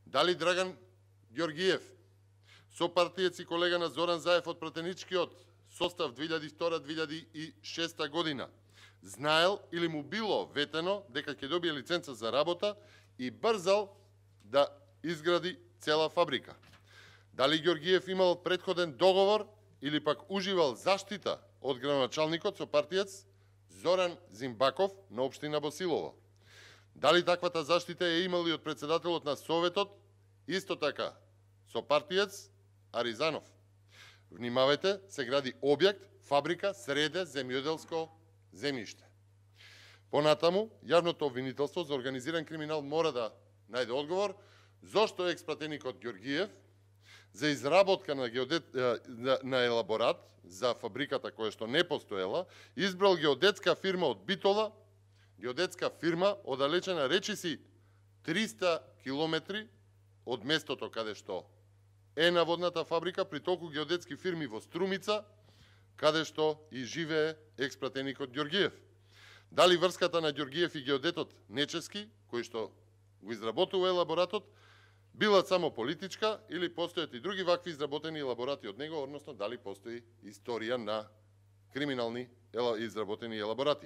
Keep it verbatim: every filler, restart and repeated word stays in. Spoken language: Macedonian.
Дали Драган Ѓоргиев, сопартиец и колега на Зоран Заев од пратеничкиот состав две илјади и втора до две илјади и шеста година, знаел или му било ветено дека ќе добие лиценца за работа и брзал да изгради цела фабрика? Дали Ѓоргиев имал претходен договор или пак уживал заштита од градоначалникот со партиец Зоран Зимбаков на општина Босилово? Дали таквата заштита е имал и од председателот на Советот, исто така со партиец Аризанов? Внимавајте, се гради објект, фабрика, среде земјоделско земјиште. Понатаму, јавното обвинителство за организиран криминал мора да најде одговор зошто експратеникот Ѓоргиев за изработка на, геодет, на, на елаборат за фабриката која што не постоела, избрал геодетска фирма од Битола, геодетска фирма оддалечена речиси триста километри од местото каде што е наводната фабрика, при толку геодетски фирми во Струмица, каде што и живее експратеникот Ѓоргиев. Дали врската на Ѓоргиев и геодетот Нечески, кој што го изработува елаборатот, била само политичка или постојат и други вакви изработени елаборати од него, односно дали постои историја на криминални изработени елаборати?